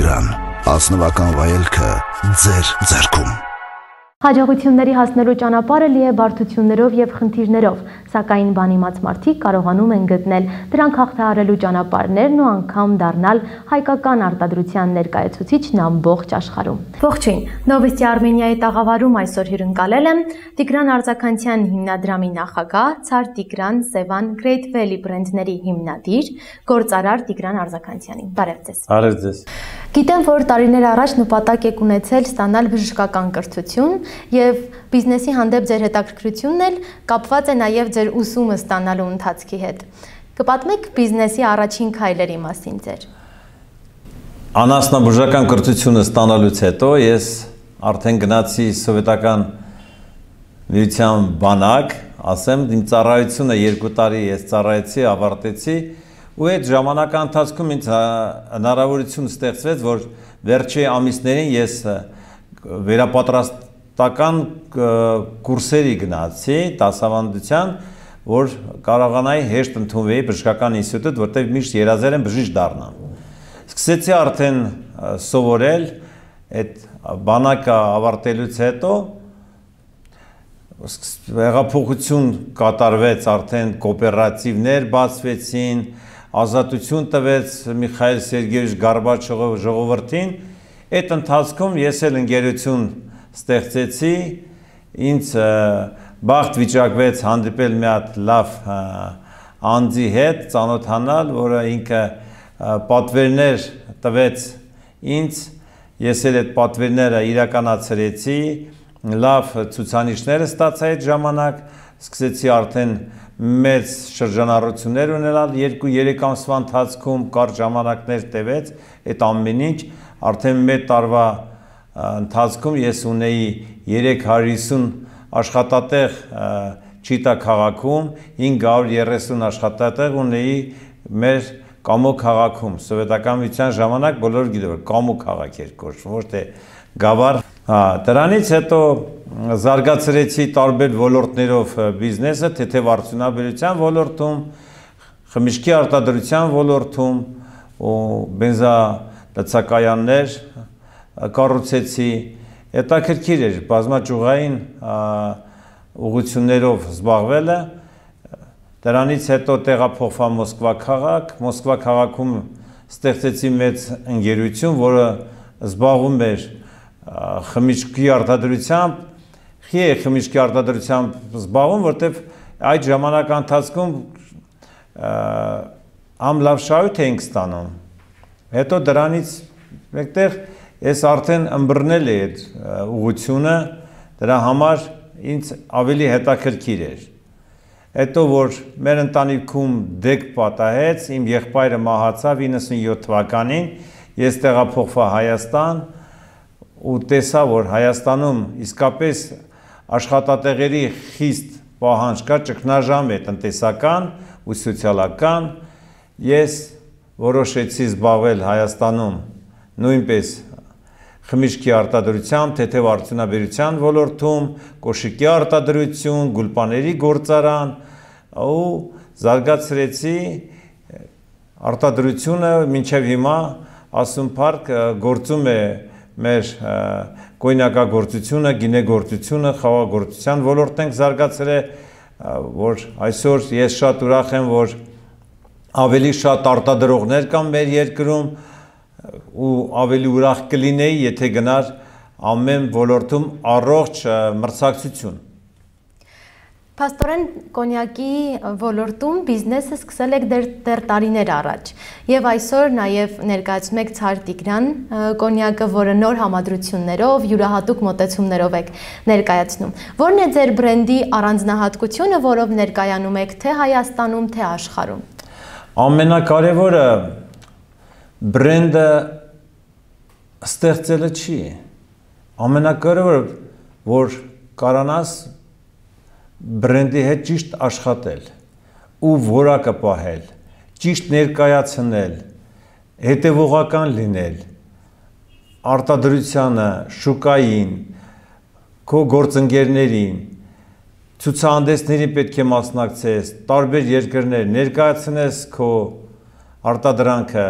Տիգրան, ազնվական վայելքը ձեր ձեռքում։ Հաջողությունների հասնելու ճանապարհը լի է բարդություններով եւ խնդիրներով, սակայն բանիմաց մարդիկ կարողանում են գտնել դրանք հաղթահարելու ճանապարհներն ու անգամ դառնալ հայկական արտադրության ներկայացուցիչն ամբողջ աշխարհում։ Ողջույն, Նովոստի Արմենիայի տաղավարում այսօր հյուրընկալել եմ Տիգրան Արձաքանցյան հիմնադրամի նախագահ, Ցար Տիգրան, Սևան, Great Valley բրենդների հիմնադիր, գործարար Տիգրան Արձաքանցյանին։ Բարև ձեզ։ Բարև ձեզ։ Գիտեմ, որ տարիներ առաջ նպատակ եք ունեցել ստանալ բժշկական կրթություն եւ բիզնեսի հանդեպ ձեր հետաքրքրությունն էլ կապված է նաեւ ձեր ուսումը ստանալու ընթացքի հետ։ Կպատմեք բիզնեսի առաջին քայլերի մասին ձեր։ Անասնաբուժական կրթությունը ստանալուց հետո ես արդեն գնացի սովետական միության բանակ, ասեմ, իմ ծառայությունը 2 տարի ես ծառայեցի, ավարտեցի, ու այդ ժամանակի ընթացքում ինձ հնարավորություն ստեղծվեց, որ վերջի ամիսներին ես վերապատրաստական կուրսերի գնացի դասավանդության, որ կարողանայի հեշտ ընդունվեի բժշկական ինստիտուտ, որտեղ միշտ երազել եմ բժիշկ դառնամ։ Սկսեցի արդեն սովորել, այդ բանակը ավարտելուց հետո հեղափոխություն կատարվեց, արդեն կոոպերատիվներ բացվեցին, ազատություն տվեց Միխայել Սերգեյևիչ Գորբաչովը ժողովրդին, այդ ընթացքում ես էլ ընկերություն ստեղծեցի, ինձ բախտ վիճակվեց հանդիպել մի հատ լավ անձի հետ, ծանոթանալ, որը ինքը պատվերներ տվեց ինձ, ես էլ այդ պատվերները իրականացրեցի, լավ ցուցանիշներ ստացա այդ ժամանակ, սկսեցի արդեն մեծ շրջանառություններ ունենալ 2-3 ամսվա ընթացքում կարճ ժամանակներ տևեց այդ ամեն ինչ, արդեն մեկ տարվա ընթացքում ես ունեի 350 աշխատատեղ Չիտա քաղաքում, 530 աշխատատեղ ունեի մեր Կամո քաղաքում, սովետական միության ժամանակ բոլորը գիտեն, որ Կամո քաղաք էր կոչվում, ոչ թե Գավառ։ Դրանից հետո զարգացրեցի տարբեր ոլորտներով բիզնեսը, թեթև արդյունաբերության ոլորտում, խմիչքի արտադրության ոլորտում, բենզալցակայաններ կառուցեցի, հետաքրքիր էր բազմաճյուղային ուղղություններով զբաղվելը, դրանից հետո տեղափոխվա Մոսկվա քաղաք, Մոսկվա քաղաքում ստեղծեցի մեծ ընկերություն, որը զբաղվում էր խմիչքի արտադրությամբ, խմիչքի արտադրությամբ զբաղվում, որտեղ այդ ժամանակ ընթացքում համ լավ շահույթ էինք ստանում, հետո դրանից մեկտեղ ես արդեն ըմբռնել էի այդ ուղղությունը, դրա համար ինձ ավելի հետաքրքիր էր։ Հետո որ մեր ընտանիքում դեկ պատահեց, իմ եղբայրը մահացավ 97 թվականին, ես տեղափոխվա Հայաստան ու տեսա, որ Հայաստանում իսկապես աշխատատեղերի խիստ պահանջ կա, ճգնաժամ է տնտեսական ու սոցիալական, ես որոշեցի զբաղվել Հայաստանում նույնպես խմիչքի արտադրությամբ, թեթև արդյունաբերության ոլորտում, կոշիկի արտադրություն, գուլպաների գործարան ու զարգացրեցի արտադրությունը մինչև հիմա Ասում Փարք գործում է մեր կոյնակագործությունը, գինեգործությունը, խաղաղագործության ոլորտն ենք զարգացրել, որ այսօր ես շատ ուրախ եմ, որ ավելի շատ արտադրողներ կան մեր երկրում ու ավելի ուրախ կլինեի, եթե գնար ամեն ոլորտում առողջ մրցակցություն։ Փաստորեն կոնյակի ոլորտում բիզնեսը սկսել եք դեռ տարիներ առաջ եւ այսօր նաեւ ներկայացնում եք Ցար Տիգրան կոնյակը, որը նոր համադրություններով, յուրահատուկ մոտեցումներով եք ներկայացնում։ Որն է ձեր բրենդի առանձնահատկությունը, որով ներկայանում եք թե Հայաստանում, թե աշխարհում։ Ամենակարևորը բրենդը ստեղծելը չի։ Ամենակարևորը, որ կարողանաս բրենդի հետ ճիշտ աշխատել ու որակը պահել, ճիշտ ներկայացնել, հետևողական լինել, արտադրությանը, շուկային, քո գործընկերներին, ցուցահանդեսներին պետք է մասնակցես, տարբեր երկրներ ներկայացնես քո արտադրանքը,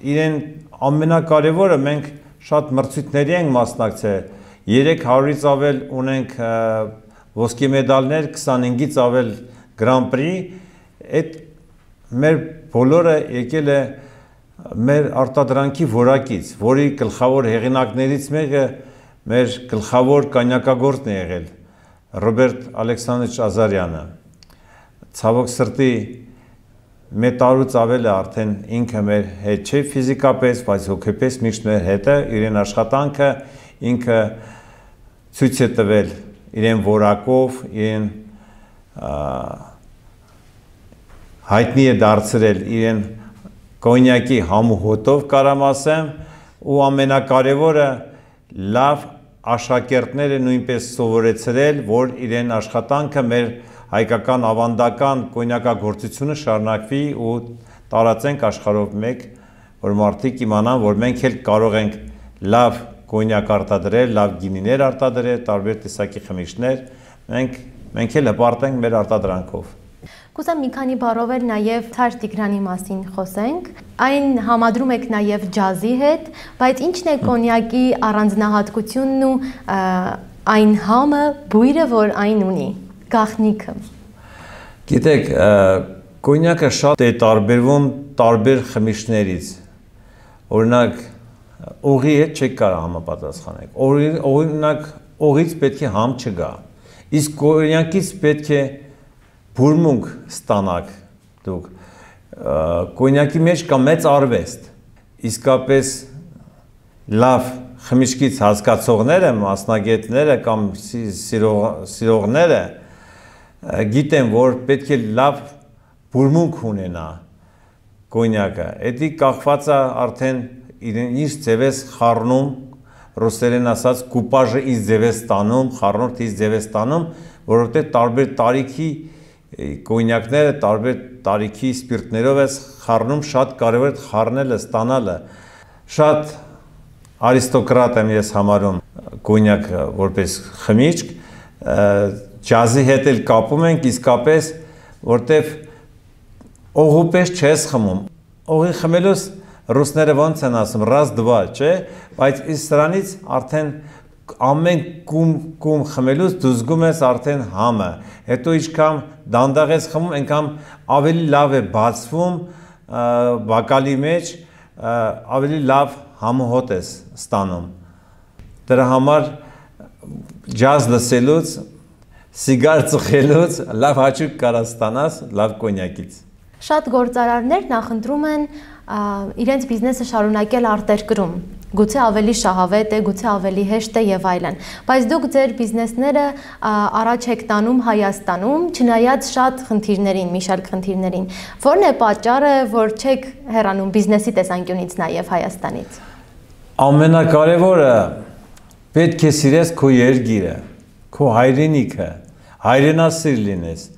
իրեն ամենակարևորը մենք շատ մրցույթների ենք մասնակցել, 300-ից ավել ունենք ոսկե մեդալներ, 25-ից ավել Grand Prix, այդ մեր բոլորը եկել է մեր արտադրանքի որակից, որի գլխավոր հեղինակներից մեկը մեր գլխավոր կոնյակագործն է եղել Ռոբերտ Ալեքսանդրիչ Ազարյանը։ Ցավոք սրտի մեր տարուց ավել է արդեն ինքը մեր հետ չէ ֆիզիկապես, բայց հոգեպես միշտ մեր հետ է, իրեն աշխատանքը ինքը ցույց է տվել իրեն որակով, իրեն հայտնի է դարձրել իրեն կոնյակի համու հոտով կարամ ասեմ, ու ամենակարևորը լավ աշակերտները նույնպես սովորեցրել, որ իրեն աշխատանքը մեր հայկական ավանդական կոնյակագործությունը շարունակվի ու տարածենք աշխարհով մեկ, որ մարդիկ իմանան, որ մենք էլ կարող ենք լավ կոնյակ արտադրել, լավ գինիներ արտադրել, տարբեր տեսակի խմիչքներ, մենք էլ հպարտենք մեր արտադրանքով։ Կուզեմ մի քանի բառով էլ նաև Ցար Տիգրանի մասին խոսենք։ Այն համադրում եք նաև ջազի հետ, բայց ի՞նչն է կոնյակի առանձնահատկությունն ու այն համը, բույրը, որ այն ունի, գաղտնիքը։ Գիտեք, կոնյակը շատ է տարբերվում տարբեր խմիչքներից։ Օրինակ, օղի հետ չեք կարող համապատասխանել։ Օրինակ, օղից պետք է համ չգա։ Իսկ կոնյակից պետք է բուրմունք ստանաք դուք, կոնյակի մեջ կա մեծ արվեստ, իսկապես լավ խմիչքից հասկացողները, մասնագետները կամ սիրողները գիտեն, որ պետք է լավ բուրմունք ունենա կոնյակը, էդի կախված է արդեն ինչ ձև ես խառնում, ռուսերեն ասած կուպաժը իս ձև ես ստանում, խառնորդ իս ձև ես ստանում, որովհետև տարբեր տարիքի կոնյակները տարբեր տարիքի սպիրտներով ես խառնում, շատ կարևոր է խառնելը, ստանալը։ Շատ արիստոկրատ եմ ես համարում կոնյակը որպես խմիչք, ջազի հետ էլ կապում ենք իսկապես, որտեվ օղուպես չես խմում։ Օղի խմելուց ռուսները ոնց են ասում, раз два, չէ, բայց իս սրանից արդեն ամեն կում խմելուց դու զգում ես արդեն համը, հետո ինչքան դանդաղ ես խմում, այնքան ավելի լավ է բացվում բակալի մեջ, ավելի լավ համոհոտ ես ստանում։ Դրա համար ջազ լսելուց, սիգար ծխելուց լավ հաճույք կարա ստանաս լավ կոնյակից։ Շատ գործարարներ նախընտրում են իրենց բիզնեսը շարունակել արտերկրում, գուցե ավելի շահավետ է, գուցե ավելի հեշտ է եւ այլն, բայց դուք ձեր բիզնեսները առաջ եք տանում Հայաստանում, չնայած շատ խնդիրներին, մի շարք խնդիրներին։ Որն է պատճառը, որ չեք հեռանում բիզնեսի տեսանկյունից նաեւ Հայաստանից։ Ամենակարևորը պետք է սիրես քո երկիրը, քո հայրենիքը, հայրենասիր լինես։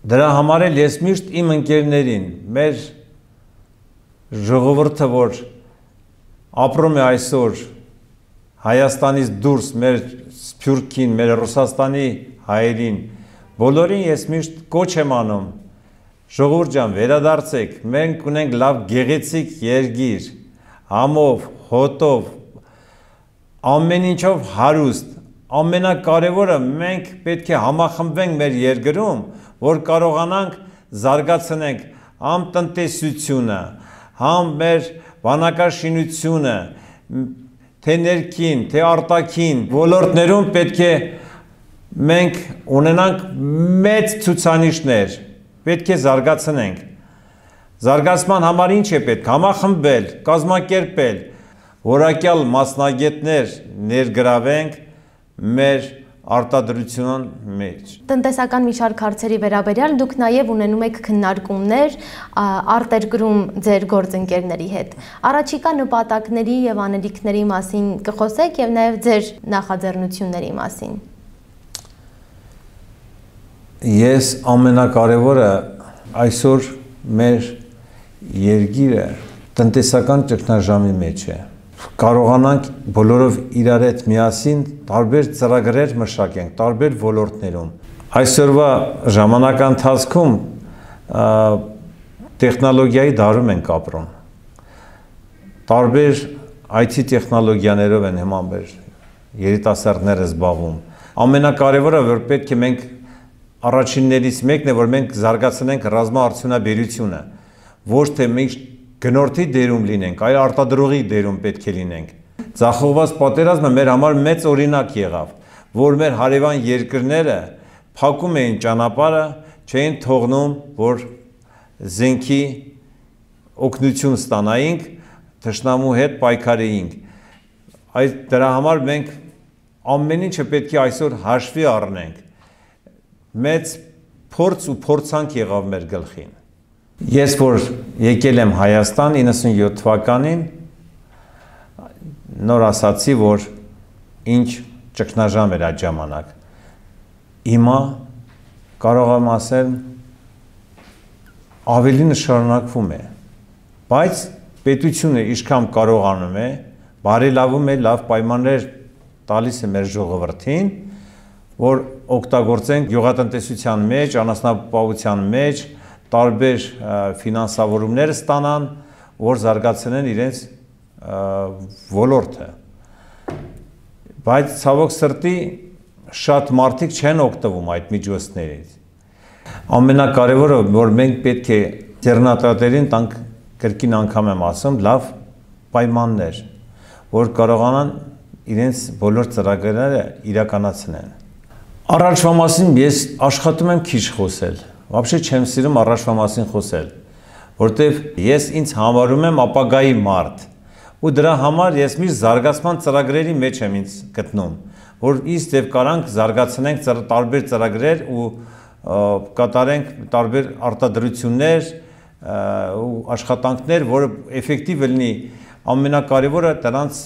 Դրա համար էլ ես միշտ իմ ընկերներին, մեր ժողովուրդը, որ ապրում է այսօր Հայաստանից դուրս, մեր Սփյուռքին, մեր Ռուսաստանի հայերին, բոլորին ես միշտ կոչ եմ անում, ժողովուրդ ջան, վերադարձեք, մենք ունենք լավ գեղեցիկ երկիր, համով, հոտով, ամեն ինչով հարուստ, ամենակարևորը մենք պետք է համախմբվենք մեր երկրում, որ կարողանանք զարգացնենք համ տնտեսությունը, համ մեր բանակաշինությունը, թե ներքին, թե արտաքին ոլորտներում պետք է մենք ունենանք մեծ ցուցանիշներ, պետք է զարգացնենք։ Զարգացման համար ինչ է պետք, համախմբել, կազմակերպել, որակյալ մասնագետներ ներգրավենք մեր արտադրության մեջ։ Տնտեսական մի շարք հարցերի վերաբերյալ դուք նաև ունենում եք քննարկումներ արտերկրում ձեր գործընկերների հետ։ Առաջիկա նպատակների եւ անելիքների մասին կխոսեք եւ նաև ձեր նախաձեռնությունների մասին։ Ես ամենակարևորը այսօր մեր երկիրը տնտեսական ճգնաժամի մեջ է։ Կարողանանք բոլորով իրար հետ միասին տարբեր ծրագրեր մշակենք, տարբեր ոլորտներում։ Այսօրվա ժամանակընթացքում տեխնոլոգիայի դարում ենք ապրում։ տարբեր IT տեխնոլոգիաներով են հիմա մեր երիտասարդները զբաղվում։ Ամենակարևորը, որ պետք է մենք առաջիններից մեկն է, որ մենք զարգացնենք ռազմաարդյունաբերությունը, ոչ թե մենք գնորդի դերում լինենք, այլ արտադրողի դերում պետք է լինենք։ Ձախողված պատերազմը մեր համար մեծ օրինակ եղավ, որ մեր հարևան երկրները փակում էին ճանապարհը, չէին թողնում, որ զենքի օգնություն ստանայինք, թշնամու հետ պայքարեինք։ Այս դրա համար մենք ամեն ինչը պետք է այսօր հաշվի առնենք։ Մեծ փորձ ու փորձանք եղավ մեր գլխին։ Ես որ եկել եմ Հայաստան 97 թվականին, նոր ասացի, որ ինչ ճգնաժամ էր այդ ժամանակ։ Հիմա կարող եմ ասել ավելի շարունակվում է, բայց պետությունը ինչքան կարողանում է, բարելավում է, լավ պայմաններ տալիս է մեր ժողովրդին, որ օգտագործենք գյուղատնտեսության մեջ, անասնապահության մեջ, տարբեր ֆինանսավորումներ ստանան, որ զարգացնեն իրենց ոլորտը։ Բայց ցավոք սրտի շատ մարդիկ չեն օգտվում այդ միջոցներից։ Ամենակարևորը, որ մենք պետք է ձեռնարկատերին տանք, կրկին անգամ եմ ասում, լավ պայմաններ, որ կարողանան իրենց բոլոր ծրագրերը իրականացնեն։ Առաջվա մասին ես աշխատում եմ քիչ խոսել, вообще չեմ սիրում առաջվա մասին խոսել, որտեվ ես ինձ համարում եմ ապագայի մարդ, ու դրա համար ես միշտ զարգացման ծրագրերի մեջ եմ ինձ գտնում, որ իսկ եւ կարանք զարգացնենք տարբեր ծրագրեր ու կատարենք տարբեր արտադրություններ ու աշխատանքներ, որը էֆեկտիվ լինի, ամենակարևորը դրանց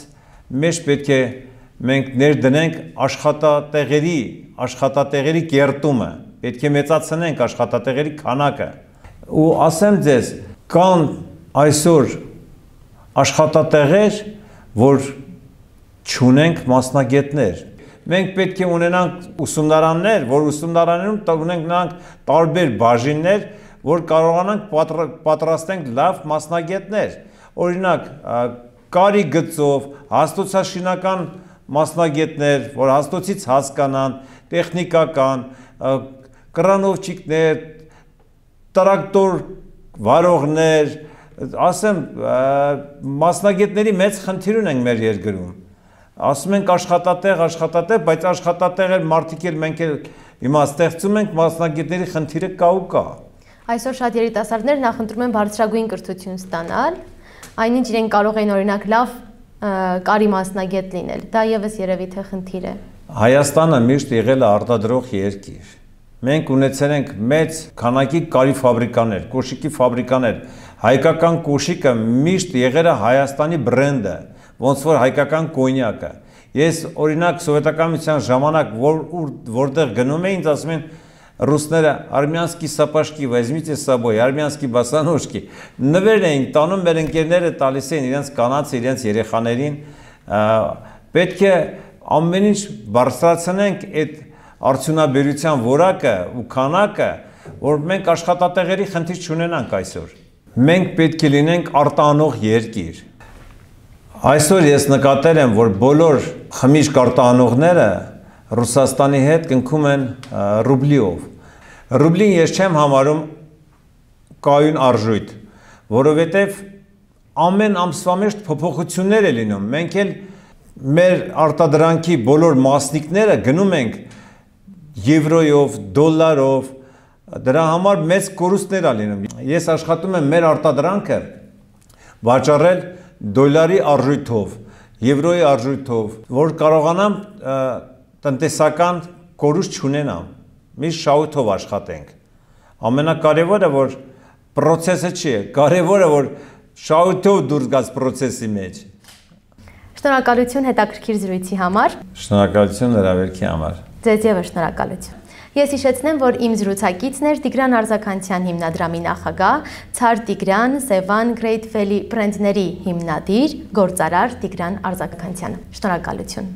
մեջ պետք է մենք ներդնենք աշխատատեղերի կերտումը, պետք է մեծացնենք աշխատատեղերի քանակը, ու ասեմ ձեզ, կան այսօր աշխատատեղեր, որ չունենք մասնագետներ, մենք պետք է ունենանք ուսումնարաններ, որ ուսումնարաններում ունենք տարբեր բաժիններ, որ կարողանանք պատրաստենք լավ մասնագետներ, օրինակ կարի գծով, հաստոցաշինական մասնագետներ, որ հաստոցից հասկանան, տեխնիկական, կրանովչիկներ, տրակտոր վարողներ, ասեմ, մասնագետների մեծ խնդիր ունենք մեր երկրում։ Ասում ենք աշխատատեղ, բայց աշխատատեղեր մարդիկ էլ մենք էլ հիմա ստեղծում ենք, մասնագետների խնդիրը կա ու կա։ Այսօր շատ երիտասարդներ նախընտրում են բարձրագույն կրթություն ստանալ, այնինչ իրենք կարող են օրինակ լավ կարի մասնագետ լինել, դա եւս երևի թե խնդիր է։ Հայաստանը միշտ եղել է արտադրող երկիր։ Մենք ունեցել ենք մեծ քանակի կարի ֆաբրիկաներ, կոշիկի ֆաբրիկաներ։ Հայկական կոշիկը միշտ եղել է Հայաստանի բրենդը, ոնց որ հայկական կոնյակը։ Ես օրինակ սովետական միության ժամանակ որտեղ գնում էին, ասում են ռուսները արմյանսկի սապաշկի, возьмите с собой, արմյանսկի բասանոջկի։ Նվեր էին տանում, մեր ընկերները տալիս էին իրենց կանանց, իրենց երեխաներին։ Պետք է ամեն ինչ բարձրացնենք այդ արդյունաբերության որակը ու քանակը, որ մենք աշխատատեղերի խնդիր չունենանք այսօր։ Մենք պետք է լինենք արտահանող երկիր։ Այսօր ես նկատել եմ, որ բոլոր խմիչք արտահանողները Ռուսաստանի հետ կնքում են ռուբլիով։ Ռուբլին ես չեմ համարում կայուն արժույթ, որովհետև ամեն ամսվա մեջ փոփոխություններ է լինում։ Մենք էլ մեր արտադրանքի բոլոր մասնիկները գնում ենք եվրոյով, դոլարով, դրա համար մեծ կորուստներ է լինում։ Ես աշխատում եմ մեր արտադրանքը վաճառել դոլարի արժույթով, եվրոյի արժույթով, որ կարողանամ տնտեսական կորուստ չունենամ, միշտ շահութով աշխատենք։ Ամենակարևորը, որ պրոցեսը չի է, կարևորը, որ շահութով դուրս գաց պրոցեսի մեջ։ Շնորհակալություն հետաքրքիր զրույցի համար։ Շնորհակալություն հրավերքի համար։ Ձեզ ևս շնորհակալություն։ Ես հիշեցնեմ, որ իմ զրուցակիցն էր Տիգրան Արձաքանցյան հիմնադրամի նախագահ, Ցար Տիգրան, Սևան, Great Valley բրենդների հիմնադիր, գործարար Տիգրան Արձաքանցյանը։ Շնորհակալություն։